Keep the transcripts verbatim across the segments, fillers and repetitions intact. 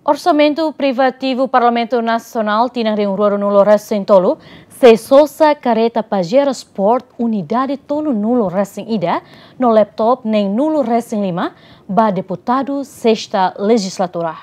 Orsamentu privativu Parlamentu Nasionál tinan rihun rua ruanulu resin tolu sei sosa kareta Pajero Sport unidade tolunulu resin ida no laptop neenulu resin lima ba deputadu sesta lejislatura.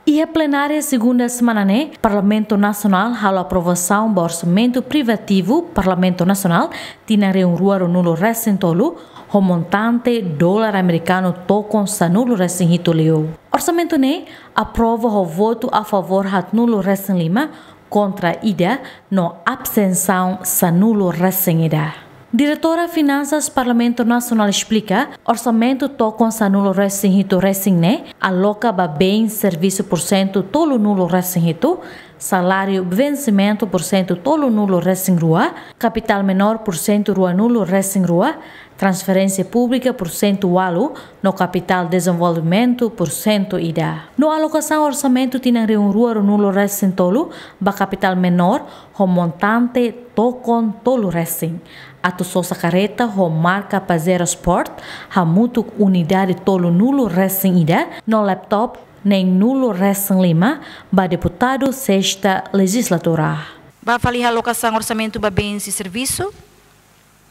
Iha plenária segunda semana ne'e, Parlamentu Nasionál halo aprovasaun ba orsamentu privativu Parlamentu Nasionál tinan rihun rua ruanulu resin tolu, ho montante dolar amerikanu tokon sanulu resin hitu liu. Orsamentu ne'e aprova ho votu a favór haatnulu resin lima, kontra ida no abstensaun sanulu resin ida. Diretora Finansas Parlamentu Nasionál esplika, orsamentu tokon sanulu resin hitu resin ne'e aloka ba bens servisu pursentu tolunulu resin hitu, saláriu vensimentu pursentu tolunulu resin rua, kapitál menór pursentu ruanulu resin rua, transferénsia públika pursentu ualu, no kapitál dezenvolvimentu pursentu ida. No alokasaun orsamentu tinan rihun rua ruanulu resin tolu ba kapitál menór ho montante tokon tolu resin. Atu sosa kareta ho marka Pajero Sport, hamutuk unidade tolunulu resin ida, no laptop neenulu resin lima ba deputadu sesta lejislatura. Ba fali alokasaun orsamentu ba bens e servisu,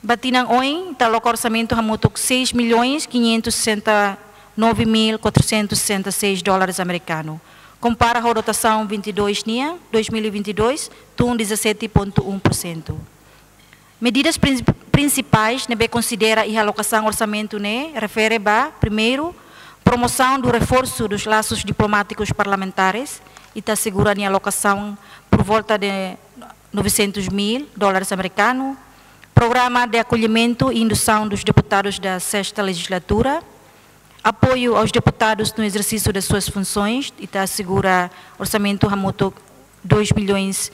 ba tinan oin ita aloka orsamentu hamutuk seis milhões quinhentos e sessenta e nove mil quatrocentos e sessenta e seis dólares amerikanu, kompara ho dotasaun vinte e dois nian, dois mil e vinte e dois, tun dezassete ponto um por cento. Medidas prin-, prinsipais ne'ebé konsidera iha alokasaun orsamentu ne'e refere ba, primeiru, promoção do reforço dos laços diplomáticos parlamentares, ita asegura nia alokasaun por volta de novecentos mil dólares americano, programa de acolhimento e indução dos deputados da sexta legislatura, apoio aos deputados no exercício das suas funções, ita asegura orsamentu hamutuk dois milhões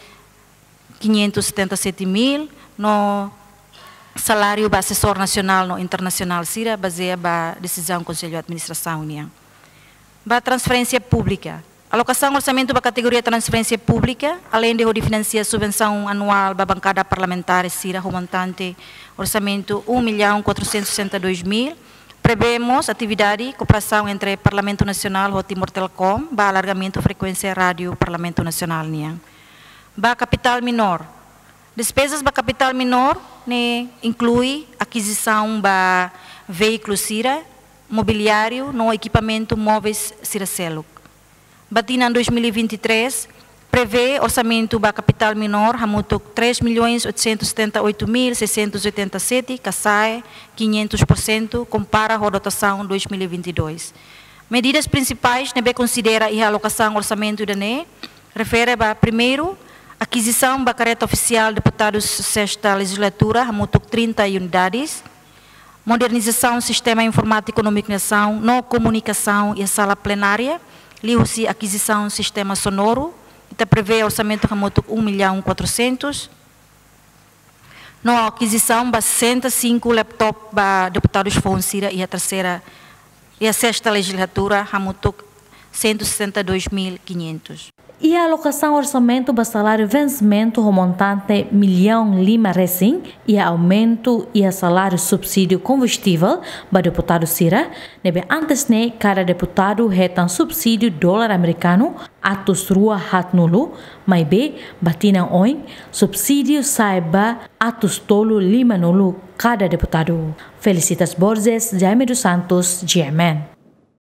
quinhentos e setenta e sete mil, no saláriu ba asesór nasionál no internasionál sira, bazeia ba desizaun Konsellu Administrasaun nian. Ba transferénsia públika. Alokasaun orsamentu ba kategoria transferénsia públika, aleinde hodi finansia subvensaun anuál ba bankada parlamentár sira ho montante orsamentu um milhão quatrocentos e sessenta e dois mil, prevee mós atividade kooperasaun entre Parlamentu Nasionál ho Timor Telecom ba alargamentu frekuénsia rádiu Parlamentu Nasionál nian. Ba kapitál menór. Despezas ba kapitál menór ne'e inklui akizisaun ba veíkulu sira, mobiliáriu no ekipamentu móveis sira seluk. Ba tinan dois mil e vinte e três, prevee orsamentu ba kapitál menór hamutuk três milhões oitocentos e setenta e oito mil seiscentos e oitenta e sete, ka sa'e quinhentos por cento, kompara ho dotasaun dois mil e vinte e dois. Medidas prinsipais ne'ebé konsidera iha alokasaun orsamentu ida-ne'e refere ba, primeiru, akizisaun ba kareta ofisiál deputadus sesta lejislatura hamutuk trinta unidades, modernizasaun sistema informátiku komunikasaun no komunikasaun iha sala plenária, liuhusi akizisaun sistema sonoru, ita prevee orsamentu hamutuk um milhão quatrocentos, no akizisaun ba sessenta e cinco laptop ba deputadus foun sira iha terseira, iha sesta lejislatura, hamutuk cento e sessenta e dois mil quinhentos. Iha alokasaun orsamentu ba saláriu vensimentu ho montante milhão lima resin, iha aumentu iha saláriu subsídiu kombustivel ba deputadu sira, ne'ebé antes ne'e kada deputadu hetan subsídiu dolar amerikanu atus rua haatnulu, maibé ba tinan oin subsídiu sa'e ba atus tolu limanulu kada deputadu. Felicitas Borges, Jaime dos Santos, G M N.